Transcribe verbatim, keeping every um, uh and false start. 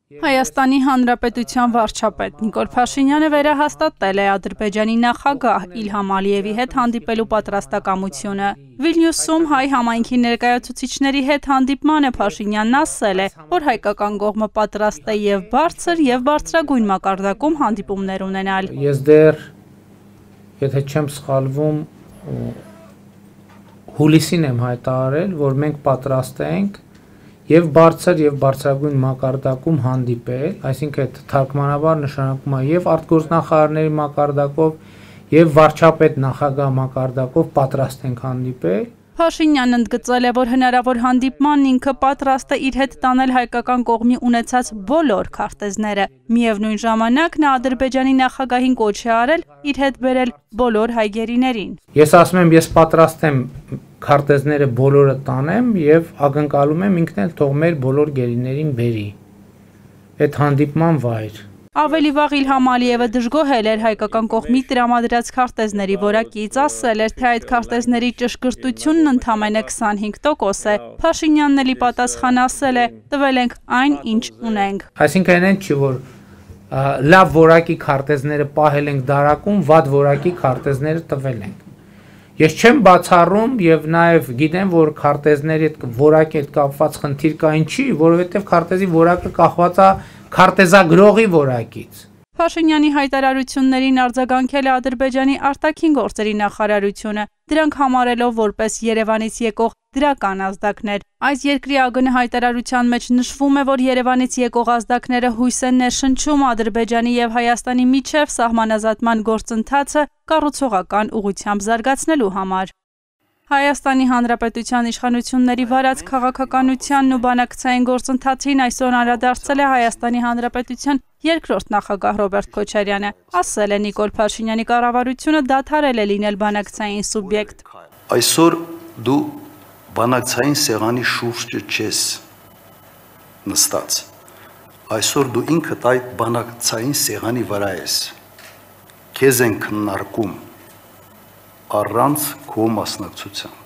Հայաստանի Հանրապետության վարչապետ Նիկոլ Փաշինյանը վերահաստատել է Ադրբեջանի նախագահ Իլհամ Ալիևի հետ հանդիպելու պատրաստակամությունը։ Վիլնյուսում հայ համայնքի ներկայացուցիչների հետ հանդիպմանը Փաշինյանն ասել է, որ հայկական կողմը պատրաստ է եւ բարձր եւ բարձրագույն մակարդակում հանդիպումներ ունենալ։ Ես դեռ, եթե չեմ սխալվում, հուլիսին եմ հայտարարել, որ մենք պատրաստ ենք եւ բարձր եւ բարձրագույն մակարդակում հանդիպել, այսինքն թարգմանաբար նշանակում է եւ արտգործնախարարների մակարդակով եւ վարչապետ նախագահ մակարդակով պատրաստ ենք հանդիպել։ Փաշինյանն ընդգծել է, որ հնարավոր հանդիպմանն ինքը պատրաստ է իր հետ տանել հայկական կողմի ունեցած բոլոր քարտեզները։ Միևնույն ժամանակ նա Ադրբեջանի նախագահին կոչ է արել իր հետ բերել բոլոր հայ գերիներին։ Ես ասում եմ, ես պատրաստ եմ քարտեզները բոլորը տանեմ եւ ակնկալում եմ ինքն էլ թող մեր բոլոր գերիներին բերի այդ հանդիպման վայր։ Ավելի վաղ Իլհամ Ալիևը դժգոհել էր հայկական կողմի տրամադրած քարտեզների որակից, ասել էր, թե այդ քարտեզների ճշգրտությունն ընդամենը քսանհինգ տոկոս է։ Փաշինյանն էլի պատասխան ասել է, տվել ենք այն, ինչ ունենք։ Այսինքն այն չի, որ լավ որակի քարտեզները պահել ենք դարակում, վատ որակի քարտեզները տվել ենք։ Ես չեմ բացառում եւ նաեւ գիտեմ, որ քարտեզների հետ որակի հետ կապված խնդիր կա, ինչի, որովհետեւ քարտեզի որակը կախված է քարտեզագրողի որակից։ Փաշինյանի հայտարարություններին արձագանքել է Ադրբեջանի արտաքին գործերի նախարարությունը, դրանք համարելով որպես Երևանից եկող դրական ազդակներ։ Այս երկրի ԱԳՆ հայտարարության մեջ նշվում է, որ Երևանից եկող ազդակները հույս են ներշնչում Ադրբեջանի եւ Հայաստանի միջև սահմանազատման գործընթացը կառուցողական ուղղությամբ զարգացնելու համար։ Հայաստանի Հանրապետության իշխանությունների վարած քաղաքականությանն ու բանակցային գործընթացին այսօր անդրադարձել է Հայաստանի Հանրապետության երկրորդ նախագահ Ռոբերտ Քոչարյանը։ Ասել է, Նիկոլ Փաշինյանի կառավարությունը դադարել է լինել բանակցային սուբյեկտ։ Այսօր դու բանակցային սեղանի շուրջը չես նստած։ Այսօր դու ինքդ այդ բանակցային սեղանի վրա ես։ Քեզ են քննարկում առանց քո մասնակցության։